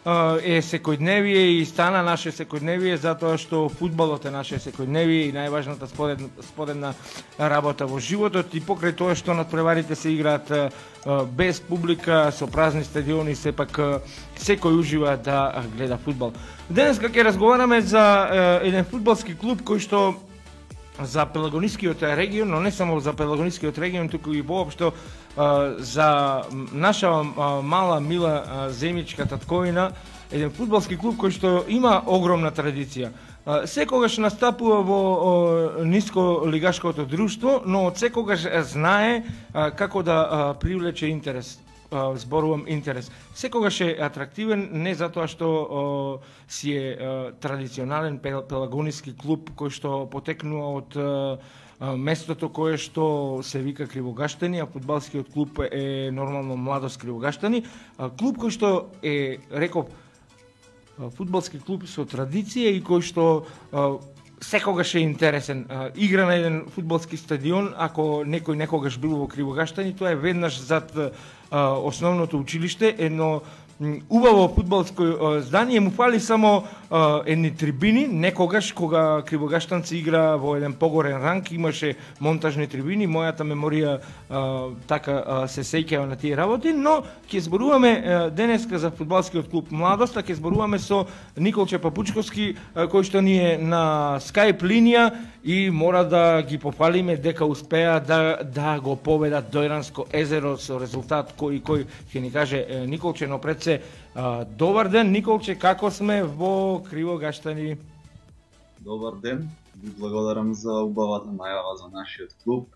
е секојдневие и стана наше секојдневие затоа што фудбалот е наше секојдневие и најважната сподедна работа во животот и покрај тоа што надпреварите се играат без публика, со празни стадиони, сепак секој ужива да гледа фудбал. Денес ќе разговараме за еден фудбалски клуб кој што за Пелагонискиот регион, но не само за Пелагонискиот регион, туку и воопшто за наша мала, мила земјичка татковина, еден фудбалски клуб кој што има огромна традиција. Секогаш настапува во ниско лигашкото друштво, но од секогаш знае како да привлече интерес. Зборувам интерес. Секогаш е атрактивен не затоа што си е традиционален пелагониски клуб кој што потекнува од местото кое што се вика Кривогаштани, а фудбалскиот клуб е нормално Младост Кривогаштани. Клуб кој што е, реков, фудбалски клуб со традиција и кој што секогаш е интересен. Игра на еден фудбалски стадион, ако некој некогаш бил во Кривогаштани, тоа е веднаш зад основното училиште, едно убаво фудбалско здание, му фали само едни трибини. Некогаш, кога Кривогаштанци игра во еден погорен ранг, имаше монтажни трибини, мојата меморија така се сеќава на тие работи, но ќе зборуваме денеска за фудбалскиот клуб Младост, а ќе зборуваме со Николче Папучковски, кој што ни е на Skype линија и мора да ги пофалиме дека успеа да го победат Дојранско езеро со резултат кој ќе ни каже Николче, но пред се добар ден, Николче, како сме во Кривогаштани? Добар ден, ви благодарам за убавата најава за нашиот клуб.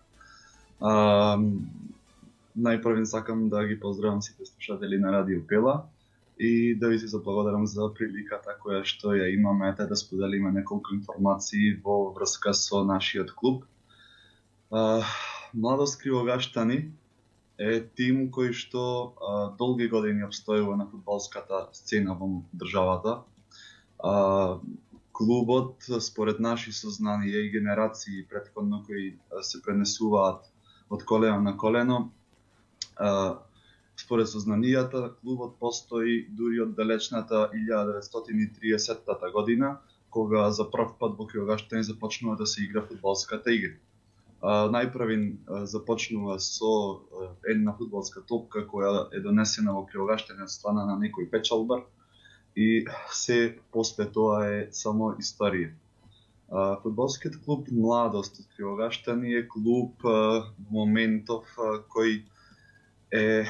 Најпрвен сакам да ги поздравам сите слушатели на Радио Пела и да ви се заблагодарам за приликата која што ја имаме да споделиме неколку информации во врска со нашиот клуб. Младост Кривогаштани е тим кој што долги години обстојува на фудбалската сцена во државата. Клубот, според наши сознанија и генерации претходно кои се пренесуваат од колено на колено, според сознанијата, клубот постои дури од далечната 1930 година, кога за прв пат во Кривогаштани започнува да се игра фудбалската игра. Најпрвин започнува со една фудбалска топка која е донесена во Кривогаштани од страна на некој печалбар и се после тоа е само историја. Фудбалскиот клуб Младост од Кривогаштани е клуб во моментов кој е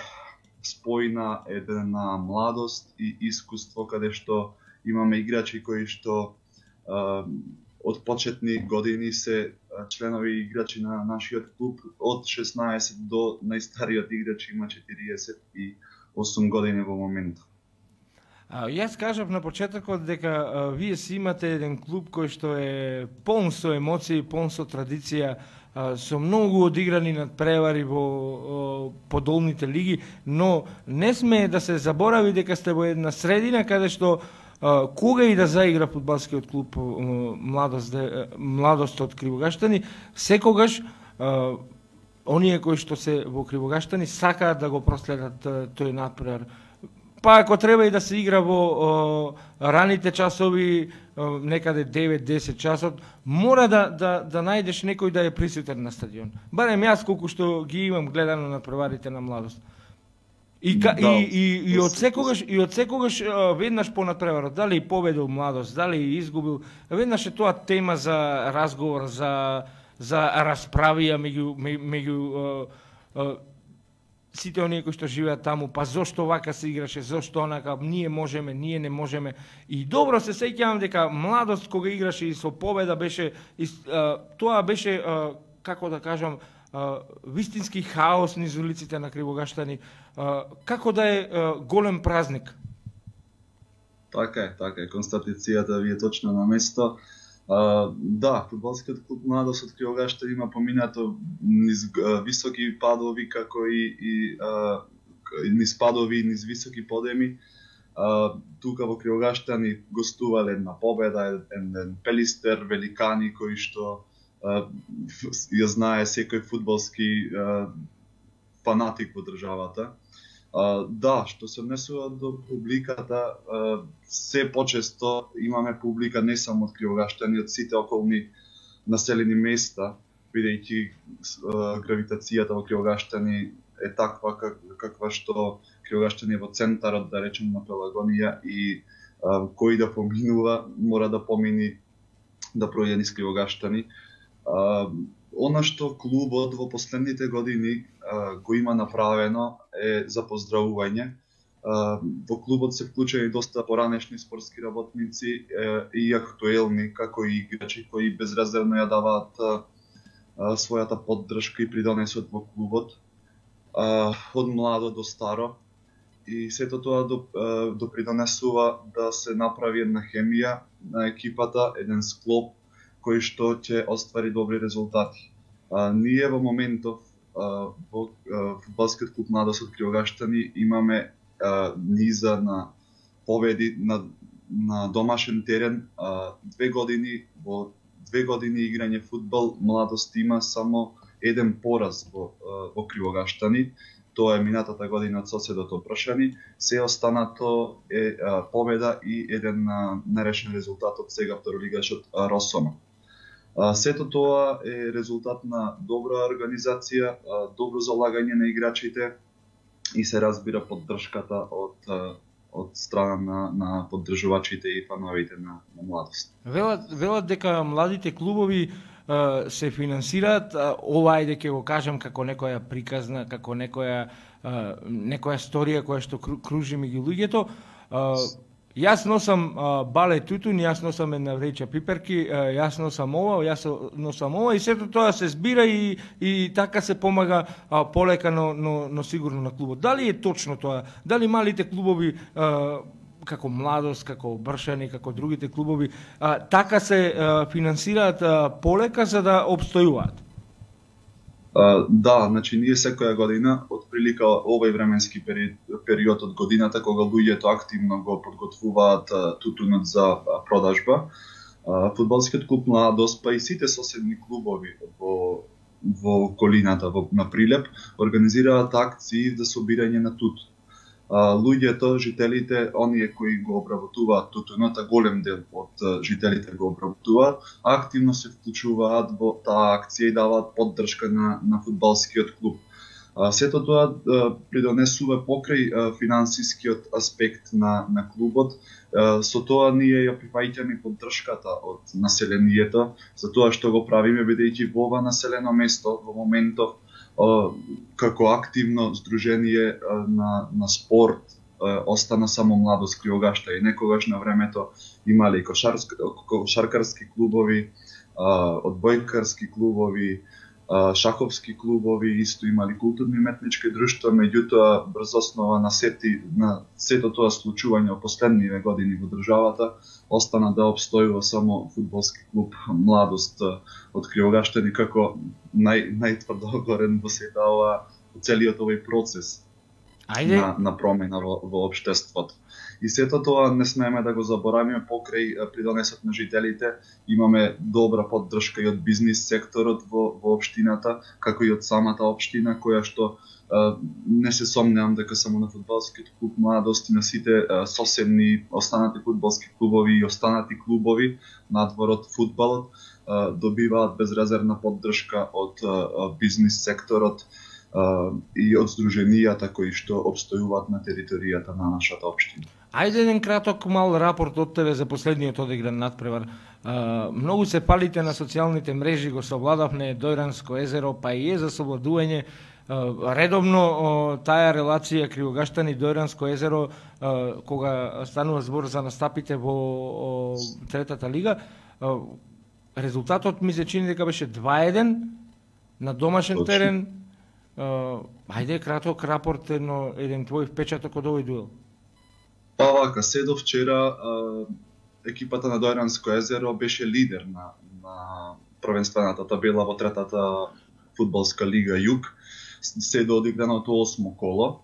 спојна една младост и искуство каде што имаме играчи кои што од почетни години се членови и играчи на нашиот клуб, од 16 до најстариот играч има 48 години во моментот. Јас кажав на почетокот дека вие си имате еден клуб кој што е полн со емоции, полн со традиција, со многу одиграни надпревари во подолните лиги, но не сме да се заборави дека сте во една средина каде што кога и да заигра фудбалскиот клуб Младост од Кривогаштани, секогаш оние кои што се во Кривогаштани сакаат да го проследат тој надпревар. Па ако треба и да се игра во раните часови, некаде 9-10 часот, мора да најдеш некој да е присутен на стадион. Барем јас колку што ги имам гледано на преварите на Младост. И од секогаш веднаш по надпреварот, дали победил Младост, дали изгубил, веднаш е тоа тема за разговор, за расправија меѓу сите оние кои што живеат таму, па зошто вака се играше, зошто онака, ние можеме, ние не можеме. И добро се сеќавам дека Младост кога играше и со победа беше, тоа беше, како да кажам, вистински хаос низ улиците на Кривогаштани, како да е голем празник. Така е, констатацијата ви е точно на место. Да, фудбалскиот клуб Младост од Кривогаштани има поминато низ високи падови, како и низ падови, низ високи подеми. Тука во Кривогаштани гостувале една победа, еден Пелистер, великани кои што ја знае секој фудбалски фанатик во државата. Да, што се однесува до публиката, се почесто имаме публика не само од Кривогаштани, од сите околни населени места, бидејќи гравитацијата во Кривогаштани е таква каква што Кривогаштани е во центарот, да речем, на Пелагонија и кој да поминува мора да помини да пројде низ Кривогаштани. Она што клубот во последните години го има направено е за поздравување. Во клубот се вклучени доста поранешни спортски работници и актуелни, како и играчи кои безрезервно ја даваат својата поддршка и придонесот во клубот, од младо до старо. И сето тоа допридонесува да се направи една хемија на екипата, еден склоп кој што ќе оствари добри резултати. Ние во моментов во фудбалскиот клуб Младост од Кривогаштани имаме низа на победи на домашен терен. Во 2 години играње фудбал Младост има само еден пораз во Кривогаштани. Тоа е минатата година од соседот Опрашани. Се останато е победа и еден нерешен резултат од сега второлигашот Росоно. Сето тоа е резултат на добра организација, добро залагање на играчите и се разбира поддршката од страна на поддржувачите и фановите на Младост. Велат дека младите клубови се финансираат, ова ајде ќе го кажам како некоја приказна, како некоја сторија која што кружи меѓу луѓето. Јас носам бале тутун, јас носам една вреќа пиперки, јас носам ова и сето тоа се збира и така се помага полека, но сигурно на клубот. Дали е точно тоа? Дали малите клубови како Младост, како Бршани, како другите клубови, така се финансираат полека за да обстојуваат? Да, значи ние секоја година, отприлика овој временски период од годината, кога луѓето активно го подготвуваат тутунот за продажба, фудбалскиот клуб Младост, па и сите соседни клубови во околината, на Прилеп, организираат акции за собирање на тутун. Луѓето, жителите, оние кои го обработуваат тутунот, голем дел од жителите го обработуваат, активно се вклучуваат во таа акција и даваат поддршка на фудбалскиот клуб. Сето тоа придонесува покрај финансискиот аспект на клубот. Со тоа ние ја прифаќаме поддршката од населението, за тоа што го правиме, бидејќи во ова населено место во моментов како активно здружение на спорт остана само Младост Кривогашта и некогаш на времето имали кошаркарски клубови, одбојкарски клубови, шаховски клубови, исто имали културни метнички друштва, меѓутоа брз основа на сето тоа случување во последниве години во државата остана да обстојува само фудбалски клуб Младост од Кривогаштани како најтврдо горен во целиот овој процес на промена во општеството. И сето тоа не смееме да го заборавиме покрај придонесот на жителите. Имаме добра поддршка и од бизнис секторот во општината, како и од самата општина, која што не се сомневам дека само на фудбалскиот клуб Младост и на сите соседни останати фудбалски клубови и останати клубови надвор од фудбалот добиваат безрезервна поддршка од бизнис секторот и од здруженијата кои што обстојуваат на територијата на нашата општина. Ајде еден краток мал рапорт од тебе за последниот одигран надпревар. Многу се палите на социјалните мрежи, го совладавне Дојранско езеро, па и е за совладување редовно таа релација Кривогаштани Дојранско езеро кога станува збор за настапите во третата лига. Резултатот ми се чини дека беше 2-1 на домашен терен. Ајде краток рапорт, еден твој впечаток од овој дуел. Па вака, седо вчера екипата на Дојранско езеро беше лидер на првенствената табела во третата фудбалска лига Југ. Седо одиграното 8 коло.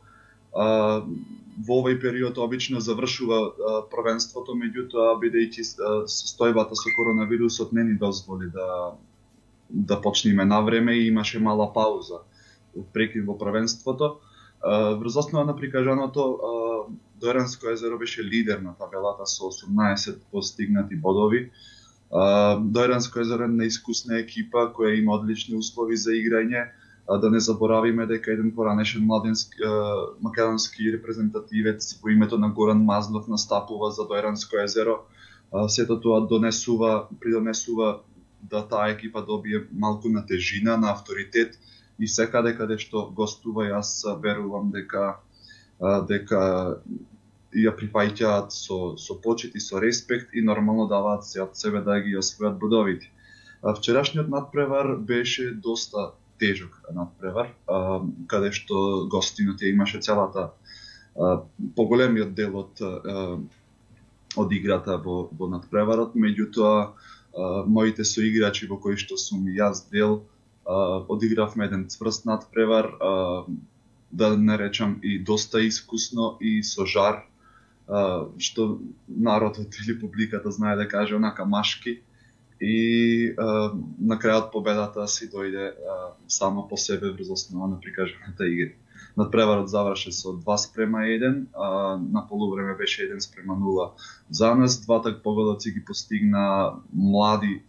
Во овој период обично завршува првенството, меѓутоа бидејќи состојбата со коронавирусот не ни дозволи да почнеме на време и имаше мала пауза прекин во првенството. Врз основа на прикажаното, Дојранско езеро беше лидер на табелата со 18 постигнати бодови. Дојранско езеро е неискусна екипа која има одлични услови за играње. Да не заборавиме дека еден поранешен македонски репрезентативец по името на Горан Мазлов настапува за Дојранско езеро. Сето тоа придонесува да таа екипа добие малку на тежина, на авторитет и секаде каде што гостува, јас верувам дека ја прифаќаат со почит и со респект и нормално даваат се од себе да ги освојат бодовите. Вчерашниот надпревар беше доста тежок надпревар, каде што гостинот ја имаше целата поголемиот дел од играта во надпреварот, меѓутоа моите соиграчи во кои што сум јас дел одигравме еден цврст надпревар, да не речам и доста искусно и со жар, што народот или публиката знае да каже онака машки, и на крајот победата си дојде само по себе врз основа на прикажаната игра. Надпреварот заврши со 2:1, на полувреме беше 1:0 за нас. Двата победоци ги постигна млади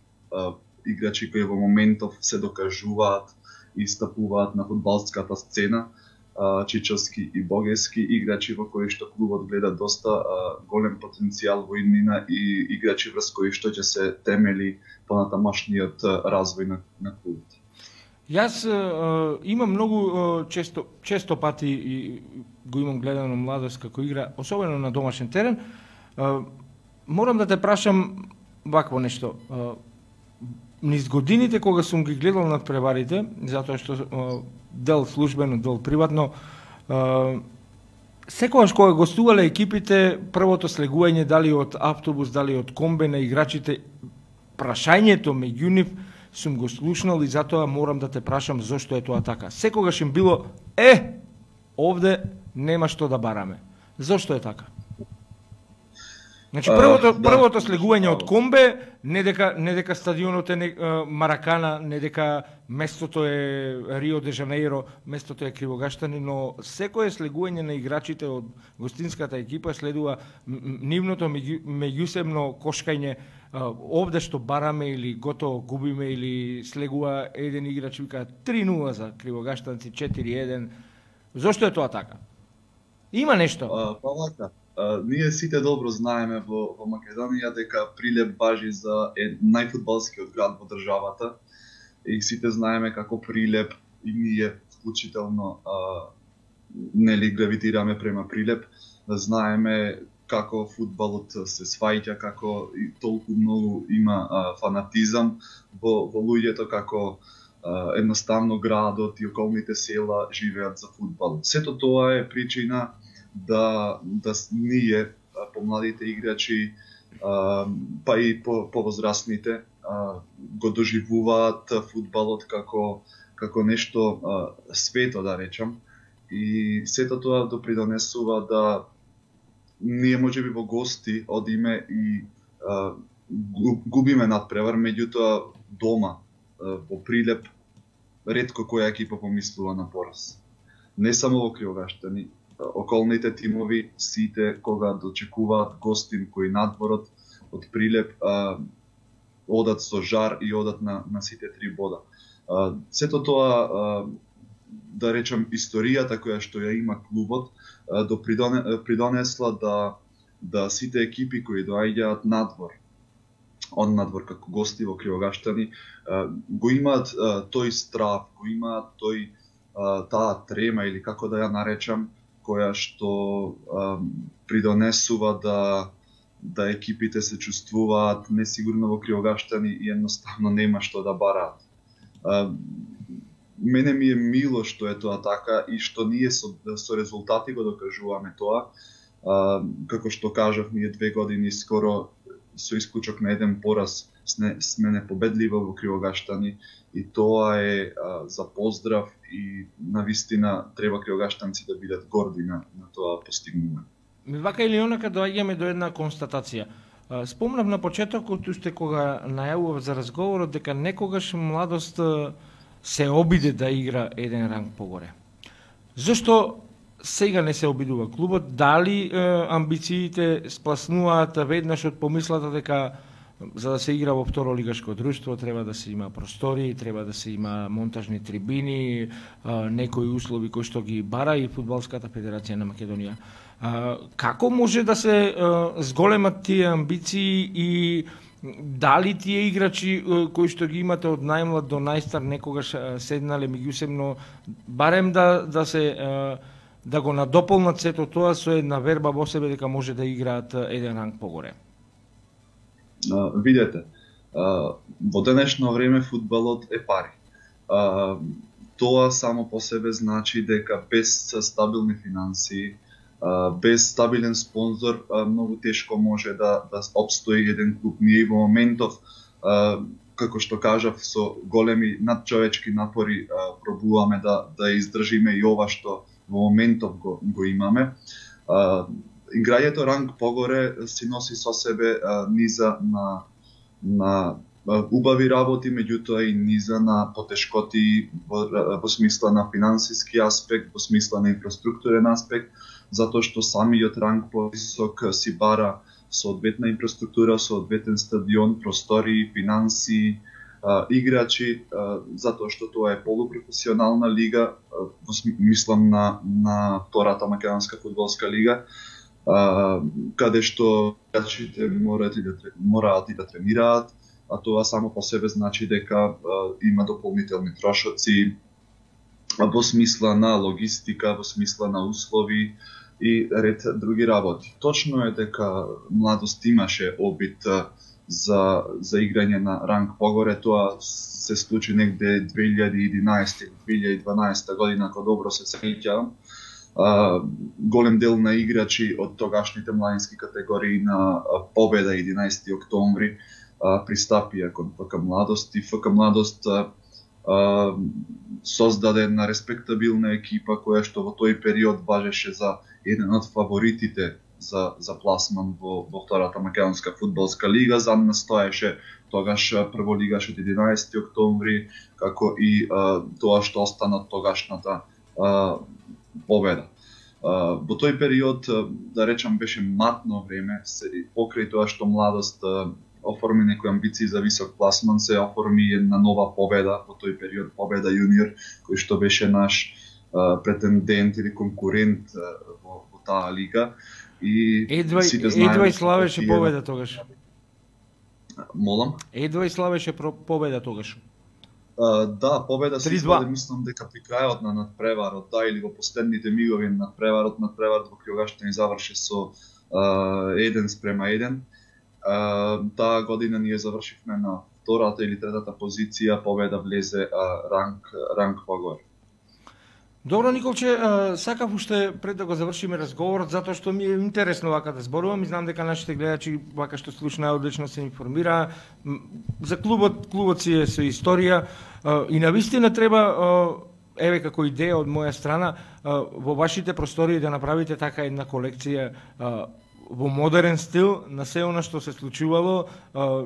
играчи кои во моментов се докажуваат и стапуваат на фудбалската сцена, Чичовски и Богески, играчи во кои што клубот гледа доста голем потенцијал во иднина и играчи врз кои што ќе се темели понатамошниот развој на клубот. Јас имам многу често пати и го имам гледано младост како игра, особено на домашен терен. Морам да те прашам вакво нешто. Низ годините кога сум ги гледал надпреварите, затоа што дел службено, дел приватно, секогаш кога гостувале екипите, првото слегување дали од автобус, дали од комбе на играчите, прашањето меѓу нив сум го слушнал и затоа морам да те прашам зошто е тоа така. Секогаш им било овде нема што да бараме. Зошто е така? Значи првото слегување од комбе, не дека стадионот е Маракана, не дека местото е Рио де Жанеиро, местото е Кривогаштани, но секое слегување на играчите од гостинската екипа следува нивното меѓусебно кошкање, овде што бараме или готово губиме, или слегува еден играч вика 3:0 за Кривогаштанци, 4:1. Зошто е тоа така? Има нешто? Ние сите добро знаеме во Македонија дека Прилеп важи за најфудбалскиот град во државата и сите знаеме како Прилеп и ние вклучително нели гравитираме према Прилеп. Знаеме како фудбалот се сваќа, како и толку многу има фанатизам во луѓето, како едноставно градот и околните села живеат за фудбал. Сето тоа е причина да ние, помладите играчи, па и повозрастните, го доживуваат фудбалот како нешто свето, да речам. И сето тоа допридонесува да ние можеби во гости одиме и губиме надпревар, меѓутоа дома во Прилеп ретко која екипа помислува на пораз. Не само во Кривогаштани, околните тимови сите кога дочекуваат гостин кој надворот од Прилеп одат со жар и одат на сите 3 бода. Сето тоа, да речам, историјата која што ја има клубот придонесла да сите екипи кои доаѓаат од надвор како гости во Кривогаштани го имаат тој страв, го имаат таа трема или како да ја наречам, која што придонесува да екипите се чувствуваат несигурно во Кривогаштани и едноставно нема што да бараат. Мене ми е мило што е тоа така и што ние со резултати го докажуваме тоа. Како што кажав, ние 2 години скоро со исклучок на еден пораз сме непобедливи во Кривогаштани и тоа е за поздрав и навистина треба кривогаштанци да бидат горди на тоа постигнување. Вака или онака доаѓаме до една констатација. Спомнав на почетокот уште кога најавував за разговорот дека некогаш младост се обиде да игра еден ранг погоре. Зошто сега не се обидува клубот, дали амбициите спласнуваат веднаш од помислата дека за да се игра во второ лигашко друштво треба да се има простори, треба да се има монтажни трибини, некои услови кои што ги бара и Фудбалската федерација на Македонија. Како може да се зголемат тие амбиции и дали тие играчи кои што ги имате од најмлад до најстар некогаш седнале меѓусебно барем да се да го надополнат сето тоа со една верба во себе дека може да играат еден ранг погоре? Видете, во денешно време фудбалот е пари. Тоа само по себе значи дека без стабилни финансии, без стабилен спонзор, многу тешко може да опстои еден клуб. Ние во моментов, како што кажав, со големи надчовечки напори пробуваме да издржиме и ова што во моментов го имаме. Играњето ранг погоре си носи со себе низа на убави работи, меѓутоа и низа на потешкоти во смисла на финансиски аспект, во смисла на инфраструктурен аспект, затоа што самиот ранг повисок си бара соодветна инфраструктура, соодветен стадион, простори, финанси, играчи, затоа што тоа е полупрофесионална лига, мислам на втората македонска фудбалска лига, каде што играчите мораат и да тренираат, а тоа само по себе значи дека има дополнителни трошоци во смисла на логистика, во смисла на услови и ред други работи. Точно е дека младост имаше обид за играње на ранг погоре, тоа се случи негде 2011 или 2012 година, ако добро се сеќавам. Голем дел на играчи од тогашните младински категории на Победа 11 октомври пристапија кон ФК Младост и ФК Младост создаде една респектабилна екипа која што во тој период важеше за еден од фаворитите за пласман во втората македонска фудбалска лига. За нас стоеше тогаш прволигашот 11 октомври, како и тоа што остана од тогашната Победа. Во тој период, да речам, беше матно време, покрај тоа што Младост оформи некои амбиции за висок пласман, се оформи една нова Победа во тој период, Победа јуниор, кој што беше наш претендент или конкурент во таа лига. И едва и славеше Победа тогаш. Молам? Едва и славеше Победа тогаш. Да, Победа се извади, мислам дека при крајот на надпреварот, или во последните мигови на надпреварот во Криогаштани заврши со 1:1. Таа година ние завршивме на втората или третата позиција, Победа влезе ранг погоре. Добро, Николче, сакав уште пред да го завршиме разговорот, затоа што ми е интересно вака да зборувам и знам дека нашите гледачи вака што слушна одлично се информира. За клубот си е со историја и навистина треба, еве како идеја од моја страна, во вашите простори да направите така една колекција во модерен стил на се она што се случувало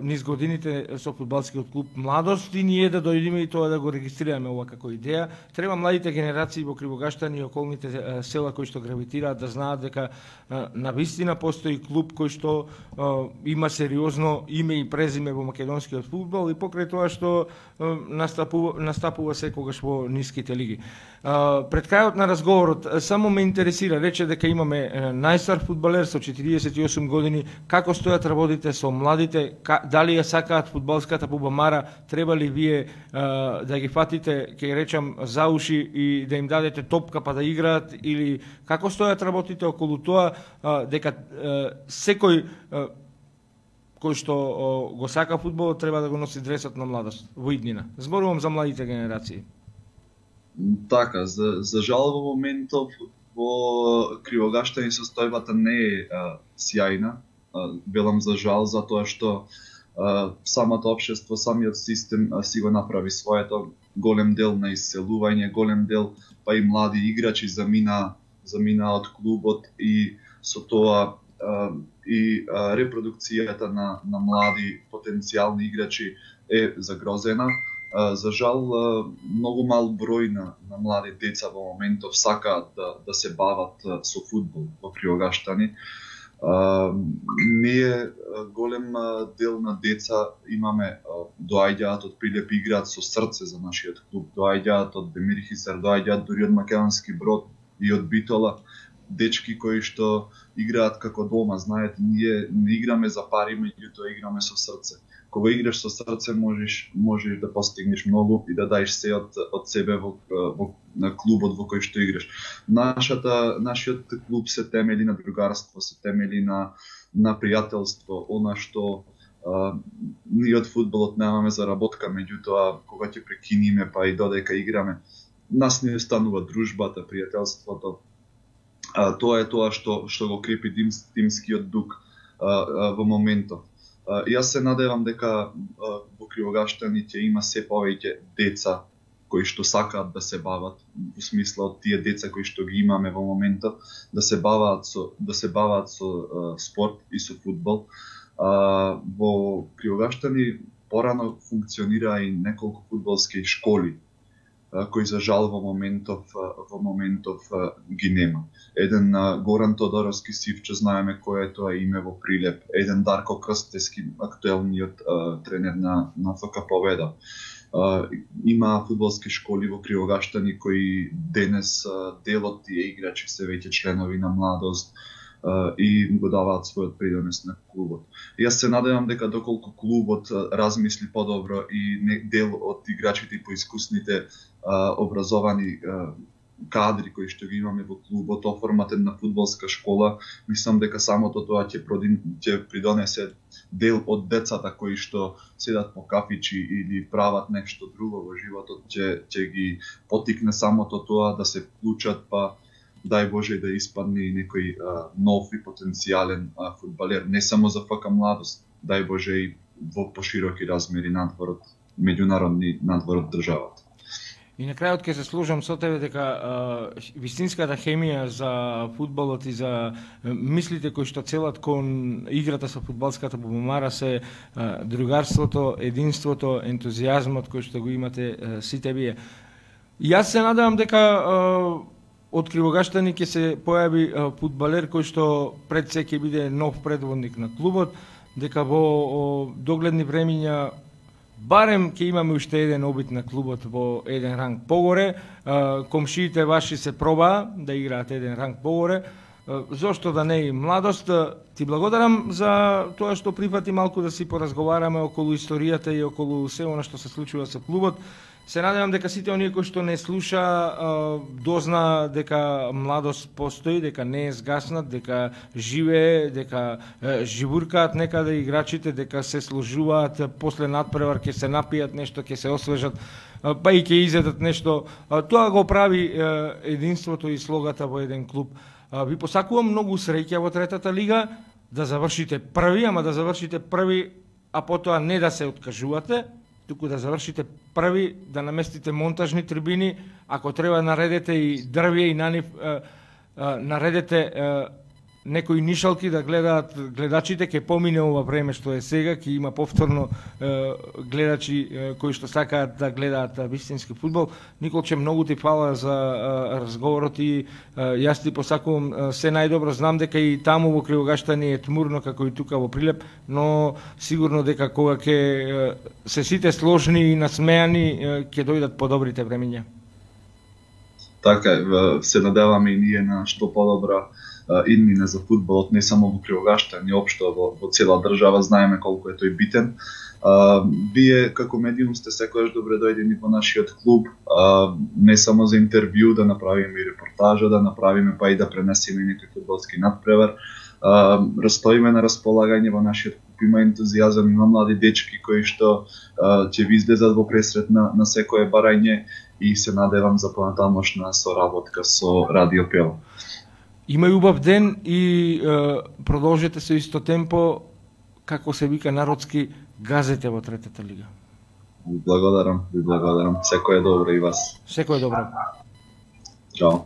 низ годините со фудбалскиот клуб Младост и ние да дојдеме и тоа да го регистрираме ова како идеја. Треба младите генерации во Кривогаштани и околните села кои што гравитираат да знаат дека навистина постои клуб кој што има сериозно име и презиме во македонскиот фудбал и покрај тоа што настапува секогаш во ниските лиги. Пред крајот на разговорот само ме интересира, рече дека имаме најстар фудбалер со 48 години, како стојат работите со младите, дали ја сакаат фудбалската пубамара, треба ли вие да ги фатите, ќе речам, за уши и да им дадете топка па да играат, или како стојат работите околу тоа, дека секој кој што го сака фудбалот треба да го носи дресот на Младост во иднина. Зборувам за младите генерации. Така, за жал во моментов во Кривогаштани состојбата не е сјајна. Велам за жал затоа што самото општество, самиот систем си го направи своето, голем дел на исселување, голем дел па и млади играчи замина од клубот и со тоа и репродукцијата на млади потенцијални играчи е загрозена. За жал, многу мал број на млади деца во моментов сакаат да се бават со фудбал во Приогаштани. Ние голем дел на деца имаме, доаѓаат од Прилеп, играат со срце за нашиот клуб, доаѓаат од Демирхисар, доаѓаат дури од Македонски Брод и од Битола, дечки кои што играат како дома. Знаете, ние не играме за пари, меѓутоа играме со срце. Кога играш со срце можеш да постигнеш многу и да даеш се од себе во клубот во кој што играш. Нашиот клуб се темели на другарство, се темели на пријателство, она што ние од фудбалот немаме заработка, меѓутоа кога ќе прекиниме па и додека играме, нас не останува дружбата, пријателството. Тоа е тоа што го крепи тимскиот дух во моментот. Јас се надевам дека во Кривогаштани ќе има се повеќе деца кои што сакаат да се бават, во смисла од тие деца кои што ги имаме во моментот, да се баваат со спорт и со фудбал. Во Кривогаштани порано функционира и неколку фудбалски школи кои за жал во моментов ги нема. Еден Горан Тодоровски Сивче, знаеме кој е тоа име во Прилеп, еден Дарко Крстески, актуелниот тренер на ФК Победа. Има фудбалски школи во Кривогаштани кои денес дел од тие играчи се веќе членови на младост и го даваат својот придонес на клубот. Јас се надевам дека доколку клубот размисли подобро и дел од играчите и поискусните образовани кадри кои што ги имаме во клубот оформатен на фудбалска школа, мислам дека самото тоа ќе придонесе дел од децата кои што седат по кафичи или прават нешто друго во животот, ќе ги потикне самото тоа да се вклучат, па дај Боже да испадне и некој нов и потенцијален фудбалер, не само за ФК Младост, дај Боже и во пошироки размери надвор од меѓународни надвор од државата. И на крајот ќе се служам со тебе дека вистинската хемија за фудбалот и за мислите кои што целат кон играта со фудбалската бубамара се другарството, единството, ентузијазмот кој што го имате сите вие. Јас се надевам дека од Кривогаштани ќе се појави фудбалер кој што пред се ќе биде нов предводник на клубот, дека во догледни времиња барем ќе имаме уште еден обид на клубот во еден ранг погоре. Комшиите ваши се пробаа да играат еден ранг погоре. Зошто да не и Младост? Ти благодарам за тоа што прифати малку да си поразговараме околу историјата и околу се она што се случува со клубот. Се надевам дека сите оние кои што не слуша дозна дека Младост постои, дека не е згаснат, дека живее, дека живуркаат некаде играчите, дека се сложуваат после надпревар, ќе се напијат нешто, ќе се освежат, па и ќе изедат нешто. Тоа го прави единството и слогата во еден клуб. Ви посакувам многу среќа во третата лига, да завршите први, ама да завршите први, а потоа не да се откажувате, туку да завршите први, да наместите монтажни трибини, ако треба наредете и дрвје и на нив наредете некои нишалки да гледаат гледачите, ќе помине ова време што е сега, ќе има повторно гледачи кои што сакаат да гледаат вистински фудбал. Николче, многу ти фала за разговорот и јас ти посакувам се најдобро. Знам дека и таму во Кривогаштани е тмурно како и тука во Прилеп, но сигурно дека кога ќе се сите сложни и насмеани ќе дојдат подобрите времиња. Така, се надеваме и ние на што подобра иднина за фудбалот, не само во Кривогаштани, општо во цела држава. Знаеме колку е тој битен. Вие како медиум сте секогаш добре дојдени во нашиот клуб, не само за интервју, да направиме и репортажа, да направиме па и да пренесеме некој фудбалски надпревар. Растоиме на располагање во нашиот клуб, има ентузијазам, има млади дечки кои што ќе ви излезат во пресрет на секое барање и се надевам за понатамошна соработка со Радио Пела. Имај убав ден и продолжете со исто темпо, како се вика народски, газете во третата лига. Ви благодарам. Секој е добро и вас. Секој е добро. Чао.